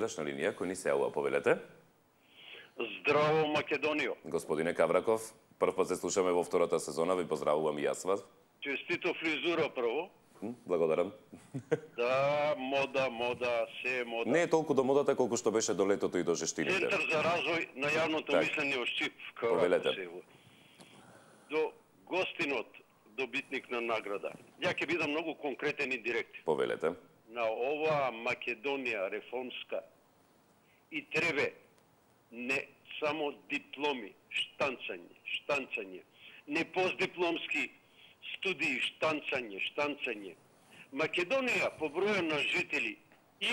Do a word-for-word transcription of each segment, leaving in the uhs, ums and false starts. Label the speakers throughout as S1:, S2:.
S1: гледач на линија кој ни се јавува, повелете.
S2: Здраво, Македонијо.
S1: Господине Кавраков, прв пат се слушаме во втората сезона, ви поздравувам и јас вас.
S2: Честито фризура прво.
S1: Благодарам.
S2: Да, мода, мода, се е мода.
S1: Не е толку до модата колку што беше до летото и до жештините.
S2: Центар за развој на јавното
S1: так.
S2: мислење во Шчип.
S1: Повелете.
S2: До гостинот, добитник на награда. Ја ќе бидам многу конкретен и директен.
S1: Повелете.
S2: На оваа Македонија реформска и требе не само дипломи, штанцање, штанцање, не постдипломски студии, штанцање, штанцање. Македонија по број на жители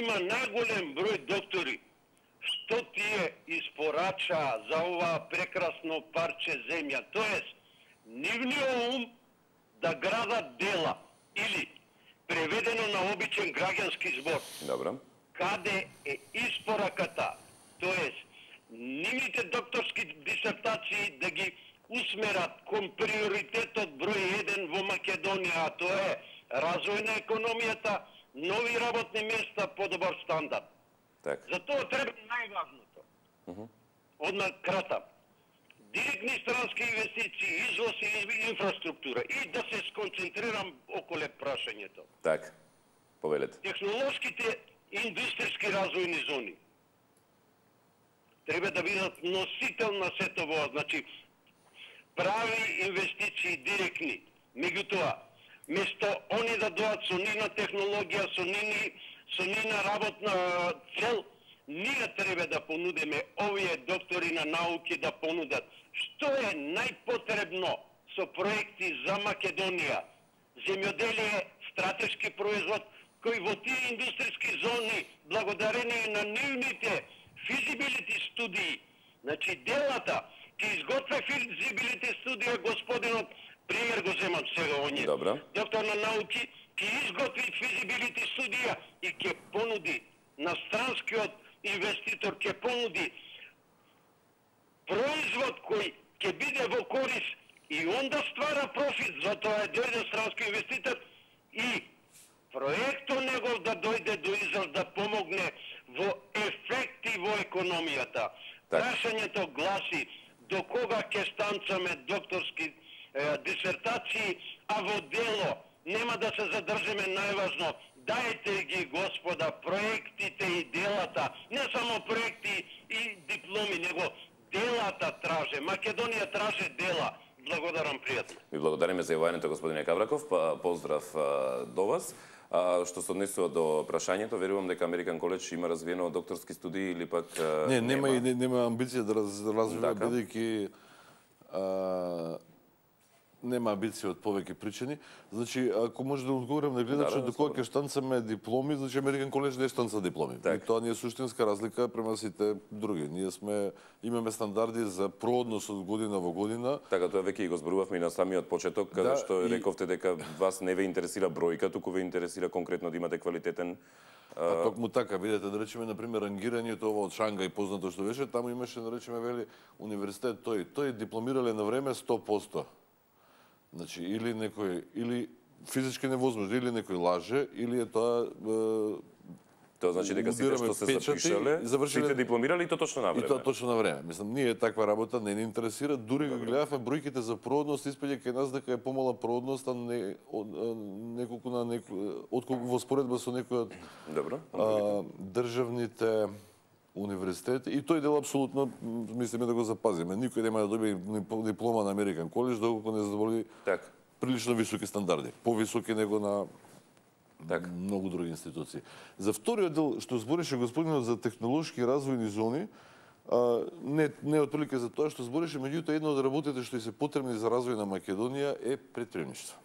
S2: има најголем број доктори. Што тие испорача за ова прекрасно парче земја? Тоест, нивниот ум да градат дела или преведено на обичен граѓански збор.
S1: Добро.
S2: Каде е испораката? Тоест, нивните докторски дисертации да ги усмерат кон приоритетот број еден во Македонија, а тоа е развој на економијата, нови работни места, подобар стандард.
S1: Так.
S2: За тоа треба најважното. Uh -huh. Одма кратам. Директни странски инвестиции, извоз и инфраструктура и да се сконцентрирам околу прашањето.
S1: Так. Повелете.
S2: Технолошките индустријски развојни зони треба да бидат носител на сето во, значи прави инвестиции директни. Меѓутоа, место они да доат со нивна технологија, со нивни, со нивна работна цел, ние треба да понудиме овие доктори на науки да понудат што е најпотребно со проекти за Македонија. Земјоделие, стратешки производ, кој во тие индустријски зони, благодарение на нивните физибилити студии, значи делата, ќе изготвя физибилити студија господинот, пример го земам сега оние.
S1: Добро.
S2: Доктор на науки ќе изготви физибилити студија и ќе понуди на странскиот инвеститор, ќе понуди производ кој ќе биде во корис и онда ствара профит, затоа е дојде странски инвеститор и проектот негов да дојде до израз да помогне во ефекти во економијата. Прашањето гласи до кога ќе станцаме докторски е, дисертации, а во дело нема да се задржиме најважно. Дајте ги, господа, проектите и делата, не само проекти и дипломи, него делата траже. Македонија траже дела. Благодарам, пријатно.
S1: Ви благодариме за јавањето, господине Кавраков. Па, поздрав а, до вас. А, што се однесува до прашањето, верувам дека Американ коледж има развиено докторски студии или пак а,
S3: не, нема и не, нема амбиција да раз, развива, бидејќи нема амбиција од повеќе причини. Значи, ако може да одговорам на гледачот, да, да, докога ќе штанцаме дипломи, значи Американ коледж не штанца дипломи. Так. И тоа не е суштинска разлика према сите други. Ние сме имаме стандарди за проодност од година во година.
S1: Така, тоа веќе и го зборувавме и на самиот почеток, каде да, што и... рековте дека вас не ве интересира бројка, туку ве интересира конкретно да имате квалитетен.
S3: А токму така, видете, да речеме, например, рангирањето ова од Шангај, познато што беше, таму имаше, да речеме, вели, универзитет тој. Тој дипломирале на време сто проценти. Значи, или некој, или физички невозможно, или некој лаже, или е тоа... Е,
S1: тоа значи дека сите што се запишале, сите дипломирали и тоа точно на време.
S3: И тоа точно на време. Мислам, ние таква работа не ни интересира, дури го гледавме бројките за проодност, испаѓа кај нас дека е помала проодност, а не неколку на некој, отколку во споредба со некој од
S1: Добро.
S3: А, државните универзитети, и тој дел апсолутно мислиме да го запазиме. Никој нема да добие диплома на Американ коледж доколку не задоволи
S1: так.
S3: прилично високи стандарди, повисоки него на
S1: так.
S3: многу други институции. За вториот дел што збореше господинот за технолошки развојни зони, а, не не отприлike за тоа што збореше, меѓутоа една од работите што се потребни за развој на Македонија е претприемништво.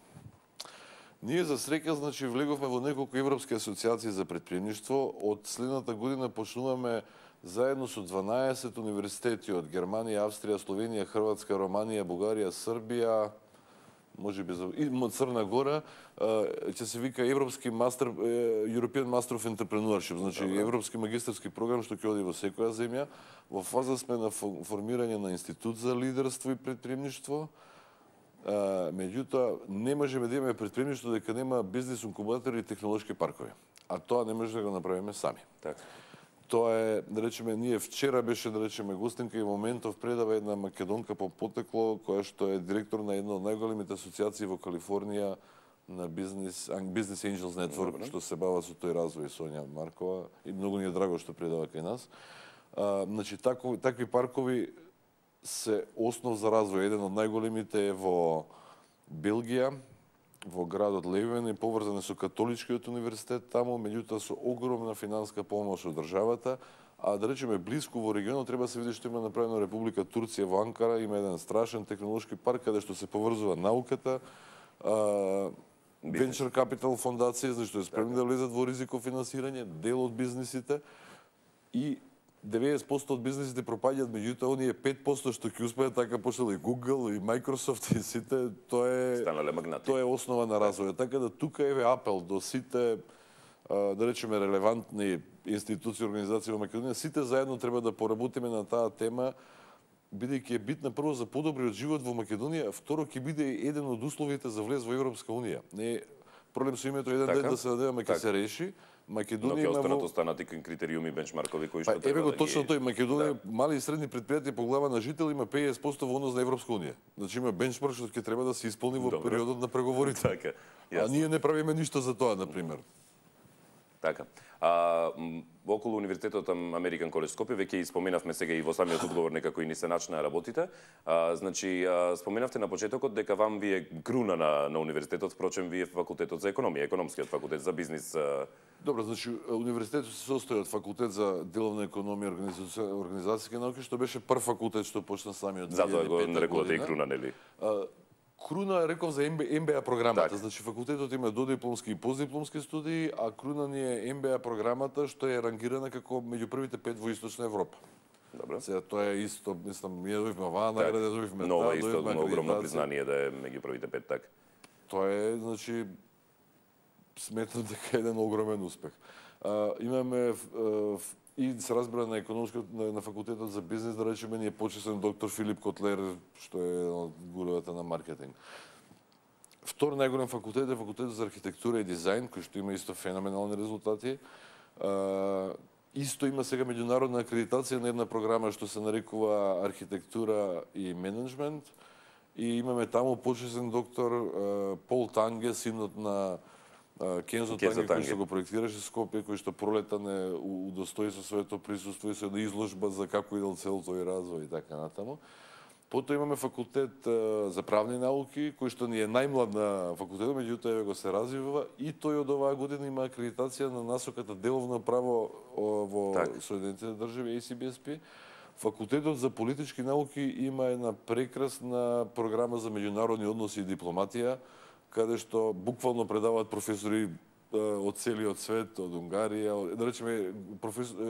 S3: Ние за среќа, значи, влеговме во неколку европски асоциации за претприемништво. Од следната година почнуваме заедно со дванаесет универзитети од Германија, Австрија, Словенија, Хрватска, Романија, Бугарија, Србија, можеби за и Црна Гора, ќе се вика Европски мастер European Master of Entrepreneurship, значи европски магистарски програм што ќе оди во секоја земја. Во фаза сме на формирање на институт за лидерство и претприемништво. Меѓутоа, не можеме да имаме претприемништво дека нема бизнес инкубатори и технолошки паркови. А тоа не може да го направиме сами.
S1: Так.
S3: Тоа е, да речеме, ние вчера беше, да речеме, гостинка и моментов предава една македонка по потекло, која што е директор на една од најголемите асоциации во Калифорнија на бизнес, Business Angels Network,
S1: Добре.
S3: што се бава со тој развој, Сонја Маркова, и многу ни е драго што предава кај нас. А, значи, тако, такви паркови се основ за развој. Еден од најголемите е во Белгија, во градот Левен, и поврзани со католичкиот универзитет таму, меѓутоа со огромна финанска помош од државата, а да речеме блиску во регионот треба се види што има направено Република Турција во Анкара, има еден страшен технолошки парк каде што се поврзува науката, а, Venture Capital фондација, значи што е спремни да влезат во ризико финансирање, дел од бизнисите, и деветдесет проценти од бизнисите пропаѓаат, меѓутоа оние пет проценти што ќе успеат, така почнал и Google и Microsoft и сите, тоа е
S1: станале магнати.
S3: Тоа е основа на развојот. Така да тука еве апел до сите, да речеме, релевантни институции и организации во Македонија, сите заедно треба да поработиме на таа тема, бидејќи е битна прво за подобриот живот во Македонија, а второ ќе биде еден од условите за влез во Европска унија. Не е проблем со името еден
S1: така?
S3: ден да се надеваме ќе се реши. Македонија
S1: Но ќе
S3: има
S1: останат
S3: во...
S1: останати критериуми, бенчмаркови кои што
S3: Па,
S1: треба
S3: еве го
S1: да
S3: точно
S1: ги...
S3: тој, Македонија, мали и средни предпријатија по глава на жител има петдесет проценти во однос на Европска унија. Значи има бенчмарк што ќе треба да се исполни во
S1: Добро.
S3: периодот на преговорите.
S1: Така,
S3: А
S1: јасно.
S3: ние не правиме ништо за тоа, на пример.
S1: Така. А, м, околу Универзитетот Американ Коледж Скопје, веќе и споменавме сега и во самиот одговор некако и ни се начна работите. А, значи, а, споменавте на почетокот дека вам ви е круна на, на универзитетот, впрочем, вие факултетот за економија, економскиот факултет за бизнис. А...
S3: Добро, значи универзитетот се состои од факултет за деловна економија и организацијски науки, што беше прв факултет што почна самиот две илјади и
S1: Затоа го
S3: пета
S1: нарекувате и
S3: година.
S1: круна, нели?
S3: А, Круна реков за Ем Би Ей програмата,
S1: Так.
S3: значи факултетот има додипломски и постдипломски студии, а Круна ни е Ем Би Ей програмата што е рангирана како меѓу првите пет во Источна Европа.
S1: Добро.
S3: Сега тоа е исто, мислам, ние добивме оваа
S1: Так.
S3: награда, добивме
S1: Ново
S3: таа,
S1: е исто
S3: добивме
S1: огромно
S3: акредитација.
S1: признание да е меѓу првите пет, така.
S3: Тоа е, значи, сметам дека е еден огромен успех. А, имаме а, и се разбира на економскиот на, на факултетот за бизнис, да речеме, ни е почесен доктор Филип Котлер, што е еден од гуровата на маркетинг. Втор најголем факултет е факултетот за архитектура и дизајн, кој што има исто феноменални резултати. А, исто има сега меѓународна акредитација на една програма што се нарекува архитектура и менеджмент. И имаме таму почесен доктор а, Пол Танге, синот на а, Кензо
S1: Кензо
S3: Танге, кој
S1: Танге.
S3: што го проектираше Скопје, кој што пролета не у- удостои со своето присуство и со една изложба за како идел цел тој развој и така натаму. Потоа имаме факултет а, за правни науки, кој што ни е најмлад на факултетот, меѓутоа еве го се развива и тој од оваа година има акредитација на насоката деловно право о, во
S1: Так.
S3: Соединетите држави, Ей Си Би Ес Пи. Факултетот за политички науки има една прекрасна програма за меѓународни односи и дипломатија, каде што буквално предаваат професори е, од целиот свет, од Унгарија, од, да речеме професор е,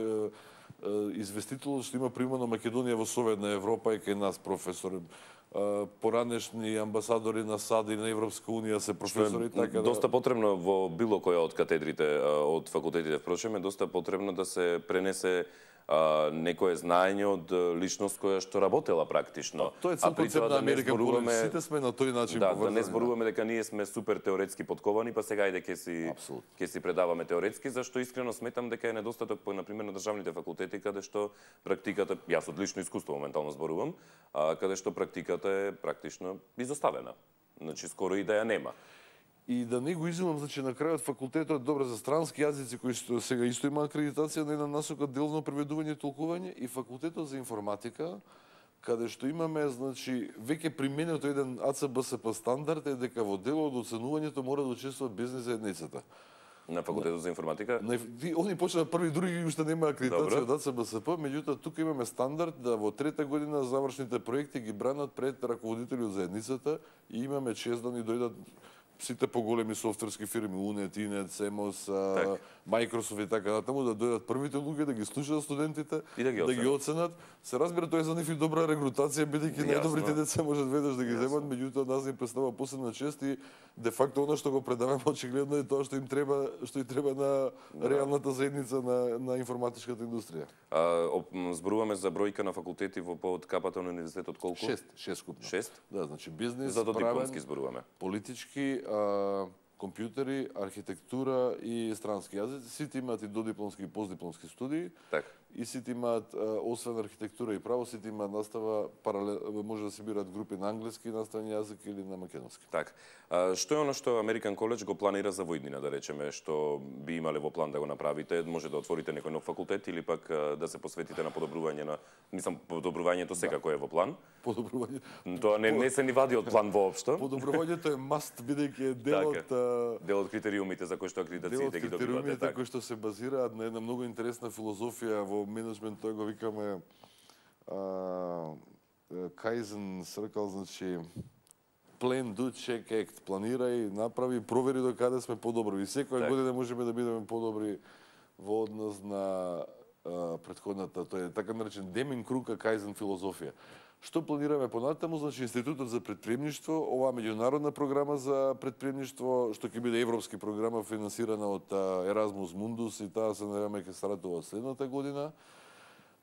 S3: е, известителот што има примано Македонија во Советна Европа и кај нас професор. Е, Поранешни амбасадори на САД и на Европска унија се професори, така да...
S1: Доста потребно во било која од катедрите а, од факултетите, впрочем, е доста потребно да се пренесе а, некое знаење од личност која што работела практично.
S3: Тоа е цел концепт на Американ Коледж, сите сме на тој начин
S1: да,
S3: поврзани.
S1: да не зборуваме дека ние сме супер теоретски подковани, па сега ајде ќе си
S3: Апсолутно.
S1: ќе си предаваме теоретски, зашто искрено сметам дека е недостаток по на пример на државните факултети каде што практиката, јас од лично искуство моментално зборувам, а, каде што практиката е практично изоставена. Значи скоро и да ја нема.
S3: И да не го изимам, значи на крајот факултетот добро за странски јазици кои што сега исто има акредитација на една насока делно преведување и толкување, и факултетот за информатика, каде што имаме, значи, веќе применето еден А Ц Б С П стандард е дека во делот од оценувањето мора да учествува бизнис заедницата.
S1: На факултетот за информатика?
S3: На, они почнаа први, други уште нема акредитација
S1: Добро.
S3: од А Ц Б С П, меѓутоа тука имаме стандард да во трета година завршните проекти ги бранат пред раководители од заедницата и имаме чест да ни дојдат сите поголеми софтверски фирми, Унет, Инет, Семос,
S1: Так.
S3: Microsoft и така натаму, да дојдат првите луѓе, да ги слушаат студентите,
S1: И да ги
S3: да ги оценат. Се разбира, тоа е за нив и добра регрутација, бидејќи
S1: Јасно.
S3: најдобрите деца можат веднаш да ги
S1: Јасно.
S3: земат, меѓутоа нас ни представува посебна чест и де факто она што го предаваме очигледно е тоа што им треба, што и треба на реалната заедница на на информатичката индустрија.
S1: А, оп, м, зборуваме за бројка на факултети во под капата на универзитетот колку?
S3: Шест, шест скупно.
S1: Шест?
S3: Да, значи бизнис,
S1: За
S3: правен,
S1: додипломски зборуваме.
S3: политички, а, компјутери, архитектура и странски јазици. Сите имаат и додипломски и постдипломски студии.
S1: Така.
S3: И сите имаат, освен архитектура и право, сите имаат настава паралел, може да се бираат групи на англиски наставен јазик или на македонски.
S1: Така. Што е оно што Американ Коледж го планира за во иднина, да речеме, што би имале во план да го направите? Може да отворите некој нов факултет или пак да се посветите на подобрување на, мислам, подобрувањето секако е во план.
S3: Подобрување.
S1: Тоа не не се ни вади од план воопшто.
S3: Подобрувањето е маст, бидејќи е дел од
S1: дел од критериумите за кои што акредитациите ги добивате.
S3: Дел од критериумите кои што се базираат на една многу интересна филозофија во менеджмент, тоа го викаме Kaizen Circle, значи plan, do, check, act. Планирај, направи, провери до каде сме подобри. И секоја година можеме да бидеме подобри во однос на а, претходната, тоа е така наречен Демин Крука Kaizen филозофија. Што планираме понатаму? Значи Институтот за предприемништво, оваа меѓународна програма за предприемништво, што ќе биде европски програма финансирана од Erasmus Mundus и таа се надеваме ќе стартува следната година.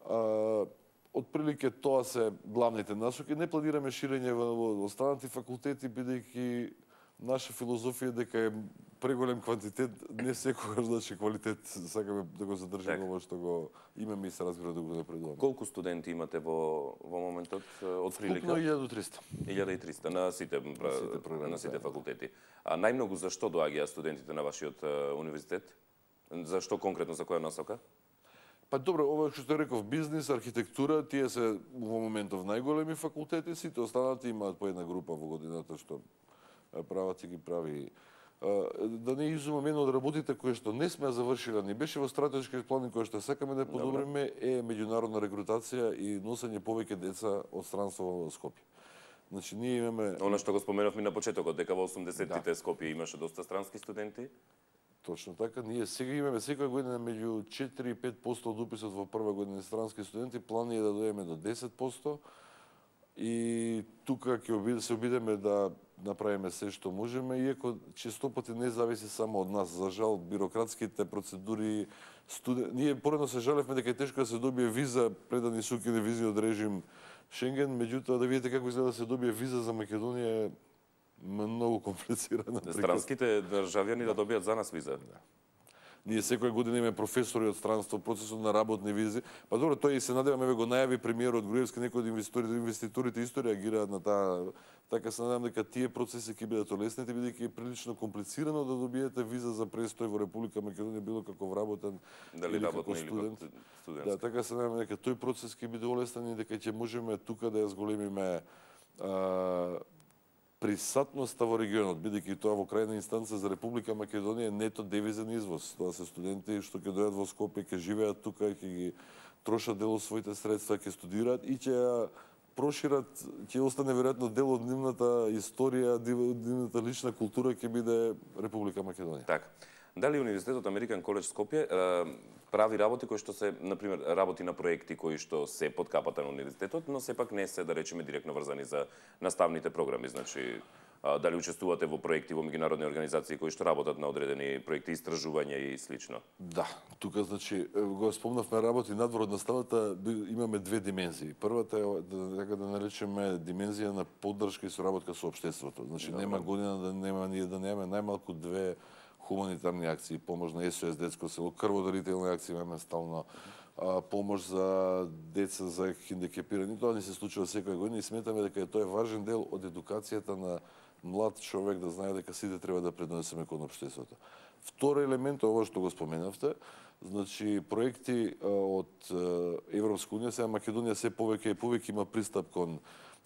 S3: А, Отприлике тоа се главните насоки. Не планираме ширење во останати факултети, бидејќи наша филозофија дека е преголем квантитет, не секогаш значи квалитет. Сакаме да го задржиме ова што го имаме и се разбира да го напредуваме.
S1: Колку студенти имате во во моментот од прилика?
S3: Вкупно илјада и триста.
S1: илјада и триста на сите на сите, програми, на сите факултети. А најмногу зашто доаѓаат студентите на вашиот универзитет? Зашто конкретно, за која насока?
S3: Па добро, ова што реков, бизнис, архитектура, тие се во моментов најголеми факултети, сите останати имаат по една група во годината што прават и ги прави. Да не изумам, една од работите кои што не сме завршила, ни беше во стратешки план кои што сакаме да подобриме е меѓународна рекрутација и носење повеќе деца од странство во Скопје. Значи ние имаме
S1: Она што го споменавме на почетокот, дека во осумдесеттите да. Скопје имаше доста странски студенти.
S3: Точно така, ние сега имаме секоја година меѓу четири и пет проценти од уписот во прва година странски студенти, план е да дојдеме до десет проценти и тука ќе се обидеме да направиме се што можеме, иако често пати не зависи само од нас. За жал, бирократските процедури, студен... ние поредно се жалевме дека е тешко да се добие виза пред да ни се укине визниот режим Шенген, меѓутоа да видите како изгледа да се добие виза за Македонија е многу комплицирана.
S1: Странските државјани да добијат за нас виза.
S3: Да. Ние секоја година имаме професори од странство, процесот на работни визи. Па добро, тој и се надеваме, ве го најави премиерот Груевски, некои од инвеститорите, инвеститорите исто реагираат на таа. Така се надевам дека тие процеси ќе бидат олеснети, бидејќи е прилично комплицирано да добиете виза за престој во Република Македонија, било како вработен
S1: дали
S3: или
S1: како
S3: студент.
S1: студент.
S3: Да, така се надевам дека тој процес ќе биде олеснен и дека ќе можеме тука да ја зголемиме а, присатноста во регионот, бидејќи тоа во крајна инстанца за Република Македонија е нето девизен извоз. Тоа се студенти што ќе дојдат во Скопје, ќе живеат тука, ќе ги трошат дел од своите средства, ќе студираат и ќе ја прошират, ќе остане веројатно дел од нивната историја, нивната лична култура ќе биде Република Македонија.
S1: Така. Дали Универзитетот Американ Коледж Скопје прави работи кои што се, например, работи на проекти кои што се под капата на универзитетот, но сепак не се, да речеме, директно врзани за наставните програми, значи дали учествувате во проекти во меѓународни организации кои што работат на одредени проекти, истражувања и слично?
S3: Да, тука значи го спомнавме работи надвор од наставата, имаме две димензии. Првата е така да наречеме димензија на поддршка и соработка со општеството. Значи нема година да нема ние да немаме најмалку две хуманитарни акции, помош на ес о ес детско село, крводарителни акции имаме стално, помош за деца за хендикепирани. Тоа не се случува секоја година и сметаме дека тоа е важен дел од едукацијата на млад човек да знае дека сите треба да предонесеме кон општеството. Втор елемент, ова што го споменавте, значи проекти од Европска унија, сега Македонија се повеќе и повеќе има пристап кон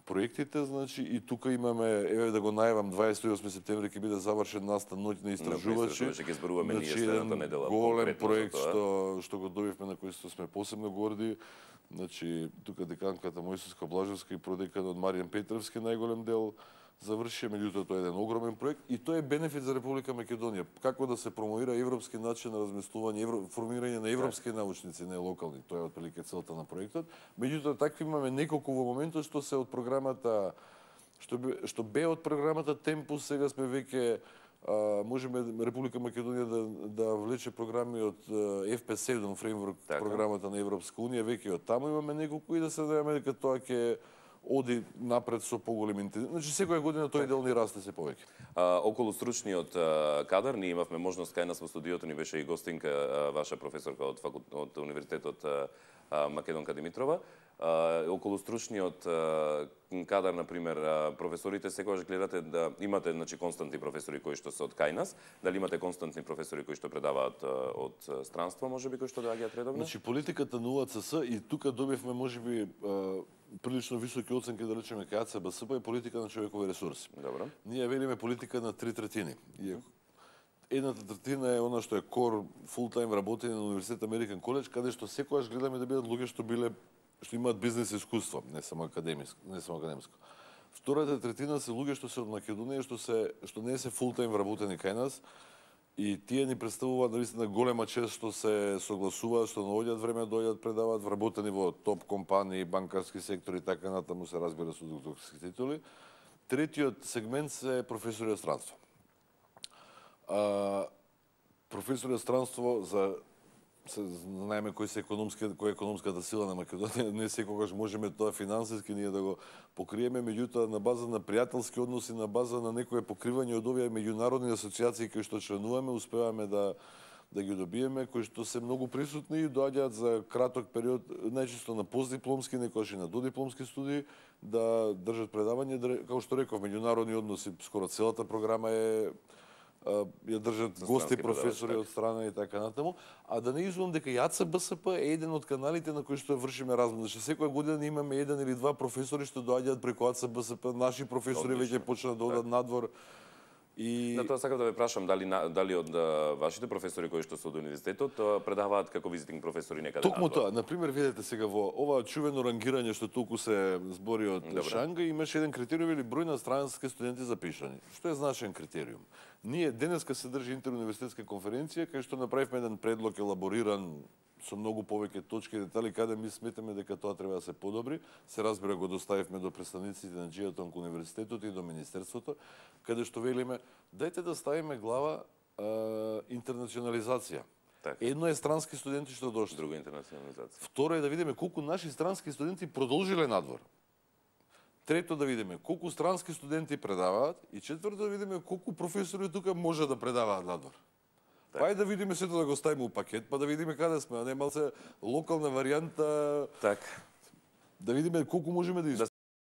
S3: проектите, значи и тука имаме, еве да го најавам, дваесет и осми септември ќе биде завршен настан ноќни истражувачи.
S1: Ќе зборуваме ние
S3: значи,
S1: следната недела.
S3: Голем проект што што го добивме, на кој што сме посебно горди. Значи тука деканката Мојсиска Блажевска и продеканот Маријан Петровски најголем дел заврши, меѓутоа тоа е еден огромен проект и тоа е бенефит за Република Македонија. Како да се промовира европски начин на размислување, евро, формирање на европски научници, не локални, тоа е отприлика целта на проектот. Меѓутоа такви имаме неколку во моментот што се од програмата што бе, што бе од програмата Темпус, сега сме веќе а, можеме Република Македонија да да влече програми од еф пе седум фреймворк, програмата на Европска унија, веќе од таму имаме неколку и да се надеваме дека тоа ќе оди напред со поголем интензитет. Значи секоја година тој дел ни расте се повеќе.
S1: А, околу стручниот а, кадар, ние имавме можност кај нас во студиото, ни беше и гостинка а, ваша професорка од, факул... од Универзитетот а, а, Македонка Димитрова. А, околу стручниот а, кадар, например, а, професорите секогаш гледате да имате, значи, константни професори кои што се од кај нас, дали имате константни професори кои што предаваат а, од странство, можеби, кои што доаѓаат редовно?
S3: Значи политиката на У А Ц С и тука добивме можеби а, прилично високи оценки, да речеме кај А Ц Б С П е политика на човекови ресурси.
S1: Добро.
S3: Ние велиме политика на три третини. И едната третина е она што е кор фултайм работење на Универзитет Американ Коледж, каде што секогаш гледаме да бидат луѓе што биле што имаат бизнес искуство, не само академиско, не само академско. Втората третина се луѓе што се од Македонија, што се што не се фултайм вработени кај нас, и тие ни представуваат навистина голема чест што се согласуваат, што наоѓаат време да дојдат, предаваат, вработени во топ компании, банкарски сектор и така натаму, се разбира со докторски титули. Третиот сегмент се професори од странство. А, професори од странство за се знаеме кој се економски, кој е економската сила на Македонија, не секогаш можеме тоа финансиски ние да го покриеме, меѓутоа на база на пријателски односи, на база на некое покривање од овие меѓународни асоциации кои што членуваме, успеваме да да ги добиеме, кои што се многу присутни и доаѓаат за краток период, најчесто на постдипломски, некогаш и на додипломски студии, да држат предавање, да, како што реков, меѓународни односи, скоро целата програма е ја држат гости, професори од страна и така натаму, а да не изумам дека и А Ц Б С П е еден од каналите на кои што вршиме размена. Значи секоја година имаме еден или два професори што доаѓаат преку А Ц Б С П, наши професори веќе почнаа да одат надвор. И
S1: на тоа сакав да ве прашам дали дали од вашите професори кои што се од универзитетот предаваат како визитинг професори некаде.
S3: Токму тоа, на пример, видете сега во ова чувено рангирање што толку се збори од Шанга, имаше еден критериум или број на странски студенти запишани. Што е значаен критериум? Ние денеска се држи интеруниверзитетска конференција кај што направивме еден предлог елабориран со многу повеќе точки и детали каде ми сметаме дека тоа треба да се подобри. Се разбира, го доставивме до представниците на Џијатон кон универзитетот и до министерството, каде што велиме дајте да ставиме глава а, интернационализација.
S1: Так.
S3: Едно е странски студенти што дошли.
S1: Друго интернационализација.
S3: Второ е да видиме колку наши странски студенти продолжиле надвор. Трето да видиме колку странски студенти предаваат и четврто да видиме колку професори тука може да предаваат надвор. Так. Па да видиме сето да го ставиме у пакет, па да видиме каде сме, а не малце локална варијанта.
S1: Так.
S3: Да видиме колку можеме да исполниме.